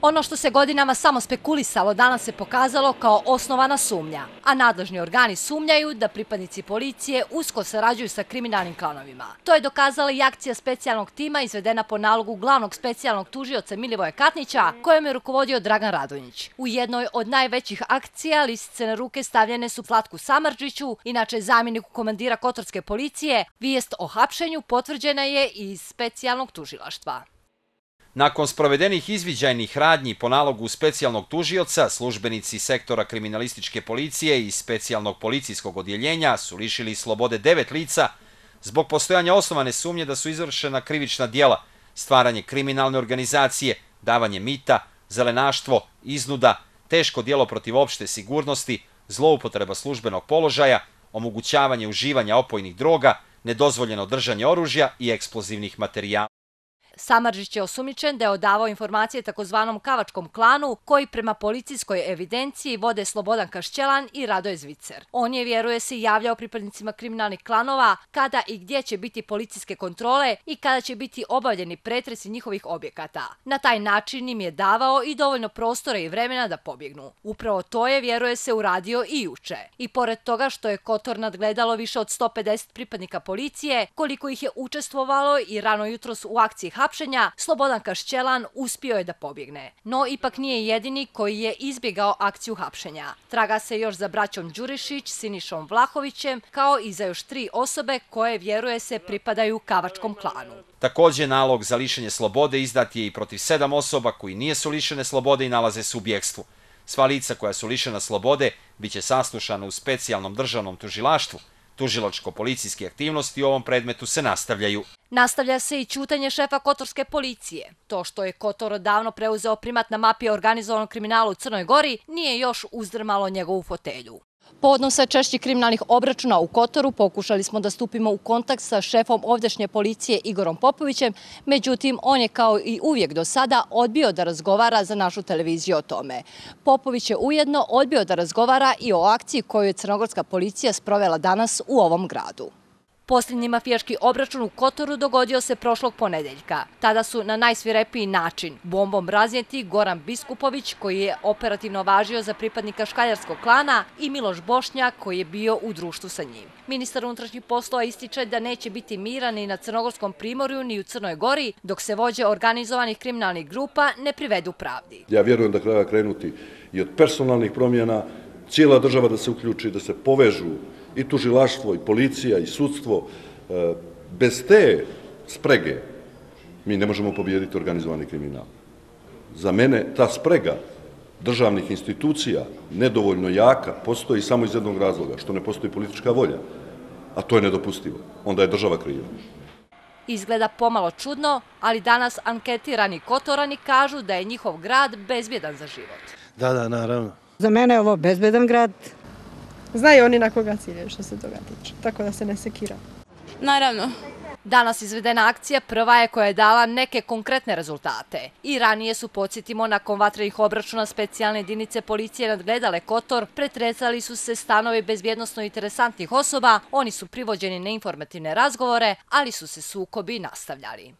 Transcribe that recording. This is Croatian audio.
Ono što se godinama samo spekulisalo danas se pokazalo kao osnovana sumnja, a nadležni organi sumnjaju da pripadnici policije usko sarađuju sa kriminalnim klanovima. To je dokazala i akcija specijalnog tima izvedena po nalogu glavnog specijalnog tužioca Milivoja Katnića, kojem je rukovodio Dragan Radonjić. U jednoj od najvećih akcija lisice na ruke stavljene su Zlatku Samardžiću, inače zamjeniku komandira Kotorske policije. Vijest o hapšenju potvrđena je i iz specijalnog tužilaštva. Nakon sprovedenih izviđajnih radnji po nalogu specijalnog tužioca, službenici sektora kriminalističke policije i specijalnog policijskog odjeljenja su lišili slobode 9 lica zbog postojanja osnovane sumnje da su izvršena krivična djela, stvaranje kriminalne organizacije, davanje mita, zelenaštvo, iznuda, teško djelo protiv opšte sigurnosti, zloupotreba službenog položaja, omogućavanje uživanja opojnih droga, nedozvoljeno držanje oružja i eksplozivnih materijala. Samardžić je osumnjičen da je odavao informacije takozvanom Kavačkom klanu, koji prema policijskoj evidenciji vode Slobodan Kašćelan i Radoje Zvicer. On je, vjeruje se, javljao pripadnicima kriminalnih klanova kada i gdje će biti policijske kontrole i kada će biti obavljeni pretresi njihovih objekata. Na taj način im je davao i dovoljno prostora i vremena da pobjegnu. Upravo to je, vjeruje se, uradio i juče. I pored toga što je Kotor nadgledalo više od 150 pripadnika policije, koliko ih je učestvovalo i rano jutros u akciji hapšenja, Slobodan Kašćelan uspio je da pobjegne. No, ipak nije jedini koji je izbjegao akciju hapšenja. Traga se još za braćom Đurišić, Sinišom Vlahovićem, kao i za još 3 osobe koje, vjeruje se, pripadaju Kavačkom klanu. Također, nalog za lišenje slobode izdat je i protiv 7 osoba koji nisu lišene slobode i nalaze se u bjegstvu. Sva lica koja su lišena slobode biće saslušana u specijalnom državnom tužilaštvu. Tužilačko-policijske aktivnosti u ovom predmetu se nastavljaju. Nastavlja se i ćutanje šefa Kotorske policije. To što je Kotor odavno preuzeo primat na mapi organizovanog kriminala u Crnoj Gori nije još uzdrmalo njegovu fotelju. Povodom sve češćih kriminalnih obračuna u Kotoru pokušali smo da stupimo u kontakt sa šefom ovdašnje policije Igorom Popovićem, međutim on je kao i uvijek do sada odbio da razgovara za našu televiziju o tome. Popović je ujedno odbio da razgovara i o akciji koju je crnogorska policija sprovela danas u ovom gradu. Posljednji mafijaški obračun u Kotoru dogodio se prošlog ponedeljka. Tada su na najsvirepiji način bombom raznijeti Goran Biskupović, koji je operativno važio za pripadnika škaljarskog klana, i Miloš Bošnjak, koji je bio u društvu sa njim. Ministar unutrašnjih poslova ističe da neće biti mira ni na Crnogorskom primorju ni u Crnoj Gori, dok se vođe organizovanih kriminalnih grupa ne privedu pravdi. Ja vjerujem da treba krenuti i od personalnih promjena, cijela država da se uključi, da se povežu i tužilaštvo, i policija, i sudstvo. Bez te sprege mi ne možemo pobijediti organizovani kriminal. Za mene ta sprega državnih institucija nedovoljno jaka postoji samo iz jednog razloga, što ne postoji politička volja, a to je nedopustivo. Onda je država kriva. Izgleda pomalo čudno, ali danas anketirani Kotorani kažu da je njihov grad bezbjedan za život. Da, naravno. Za mene je ovo bezbedan grad. Znaju oni na koga ciljaju što se toga tiče, tako da se ne sekira. Naravno. Danas izvedena akcija prva je koja je dala neke konkretne rezultate. I ranije su, podsjetimo, nakon vatrenih obračuna specijalne jedinice policije nadgledale Kotor, pretresali su se stanovi bezbjednosno interesantnih osoba, oni su privođeni na informativne razgovore, ali su se sukobi nastavljali.